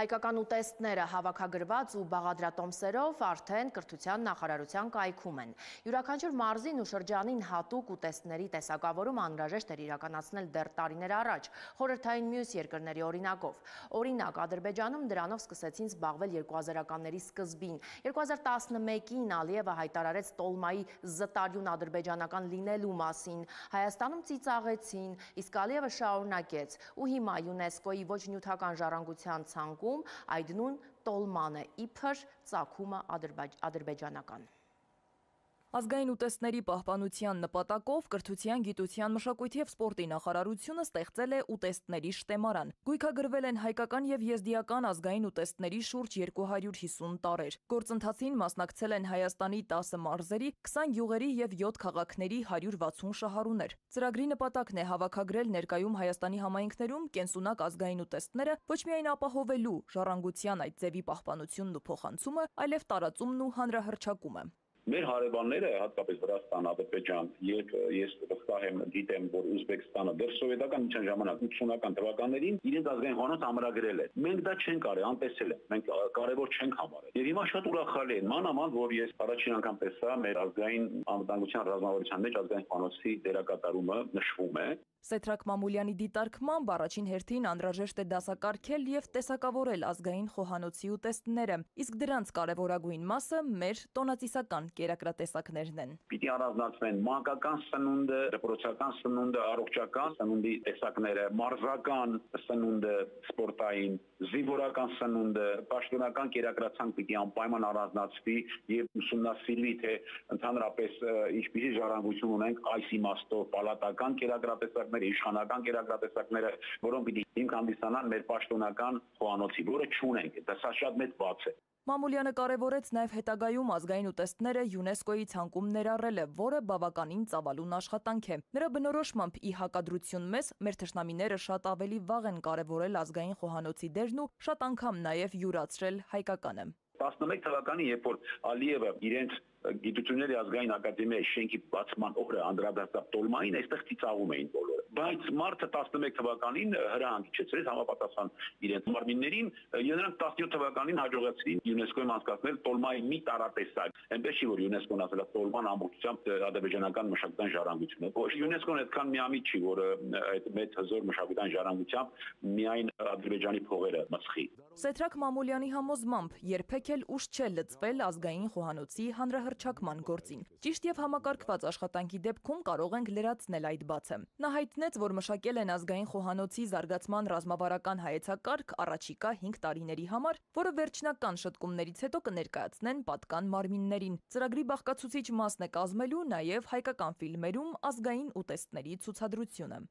Հայկական ուտեստները հավաքագրված ու բաղադրատոմսերով արդեն կրթության նախարարության կայքում են։ Յուրաքանչյուր մարզին ու շրջանին հատուկ ուտեստների տեսակավորում անհրաժեշտ էր իրականացնել դեռ տարիներ առաջ, խորհրդային մյուս երկրների օրինակով։ Օրինակ, Ադրբեջանում դրանով սկսեցին զբաղվել 2000-ականների սկզբին։ 2011-ին Ալիևը հայտարարեց տոլմայի զտարյուն ադրբեջանական լինելու մասին։ Հայաստանում ծիծաղեցին, իսկ Ալիևը շարունակեց ու հիմա ՅՈՒՆԵՍԿՕ-ի ոչ նյութական ժառանգության ցանկում այդ նույն տոլման է իբր ծագումը ադրբեջանական։ Ազգային ուտեստների պահպանության նպատակով կրթության, գիտության, մշակույթի և սպորտի նախարարությունը ստեղծել է ուտեստների շտեմարան։ Գույքագրվել են հայկական և եզդիական ազգային ուտեստների շուրջ 250 տարրեր։ Գործընթացին մասնակցել են Հայաստանի 10 մարզերի, 20 գյուղերի և 7 քաղաքների 160 շահառուներ։ Ծրագրի նպատակն է հավաքագրել ներկայում Հայաստանի համայնքներում կենսունակ ազգային ուտեստները ոչ միայն ապահովելու ժառանգության այդ ձևի պահպանությունն ու փոխանցումը, այլև տարածումն ու հանրահռչակումը։ Մեր հարևանները, հատկապես Վրաստան, Ադրբեջան, եւ ես վստահ եմ գիտեմ, որ Ուզբեկստանը դեռ սովետական միջան ժամանակ 80-ական թվականներին իրենց ազգային խոհանոց ամրագրել է։ Մենք դա չենք արել, անտեսել ենք, մենք կարևոր չենք համարել։ Եվ հիմա շատ ուրախալի է, մանավանդ որ ես առաջին անգամ տեսա մեր ազգային անվտանգության ռազմավարության մեջ ազգային խոհանոցի դերակատարումը նշվում է։ Սեդրակ Մամուլյանի դիտարկմամբ առաջին հերթին անհրաժեշտ է դասակարգել և տեսակավորել ազգային խոհանոցի ուտեստները, իսկ դրանց կարևորագույն մասը մեր տոնածիսական կերակրատեսակներն են։ Պիտի առանձնացվեն մանկական սնունդը, դպրոցական սնունդը, առողջական սնունդի տեսակները, մարզական սնունդը, սպորտային, զինվորական սնունդը, պաշտոնական կերակրացանք պիտի անպայման առանձնացվի եւ ուսումնասիրվի, թե ընդհանրապես ինչպիսի ժառանգություն ունենք այս իմաստով պալատական կերակրատեսակները, իշխանական կերակրատեսակները, որոնք պիտի հիմք հանդիսանան մեր պաշտոնական խոհանոցի, որը չունենք, դա շատ մեծ բաց է։ Մամուլյանը կարևորեց նաև հետագայում ազգային ուտեստները ՅՈՒՆԵՍԿՕ-ի ցանկում ներառելը, որը բավականին ծավալուն աշխատանք է։ Նրա բնորոշմամբ ի հակադրություն մեզ, մեր թշնամիները շատ ավելի վաղ են կարևորել ազգային խոհանոցի դերն ու շատ անգամ նաև յուրացրել հայկականը։ 11 թվականին, երբ որ Ալիևը իրենց Գիտությունների ազգային ակադեմիայի շենքի բացման օրը անդրադարձավ տոլմային, այստեղ ծիծաղում էին բոլորը։ Բայց մարտը 11 թվականին հրահանգ իջեցրեց համապատասխան իրենց մարմիններին, եւ նրանք 17 թվականին հաջողեցրին ՅՈՒՆԵՍԿՕ-ին անցկացնել տոլմայի մի տարատեսակ։ Այնպես չի, որ ՅՈՒՆԵՍԿՕ-ն ասել է տոլման ամբողջությամբ ադրբեջանական մշակութային ժառանգություն է։ Ոչ, ՅՈՒՆԵՍԿՕ-ն այդքան միամիտ չի, որ այդ մեծ հզոր մշակութային ժառանգությամբ միայն Ադրբեջանի փողերը մսխի։ Սեդրակ Մամուլյանի համոզմամբ երբեք էլ ուշ չէ լծվել ազգային խոհանոցի հանրահռչակման գործին։ Ճիշտ եւ համակարգված աշխատանքի դեպքում կարող ենք լրացնել այդ բացը։ Նա հայտնեց, որ մշակել են ազգային խոհանոցի զարգացման ռազմավարական հայեցակարգ առաջիկա 5 տարիների համար, որը վերջնական շտկումներից հետո կներկայացնեն պատկան մարմիններին։ Ծրագրի բաղկացուցիչ մասն է կազմելու նաև հայկական ֆիլմերում ազգային ուտեստների ցուցադրությունը։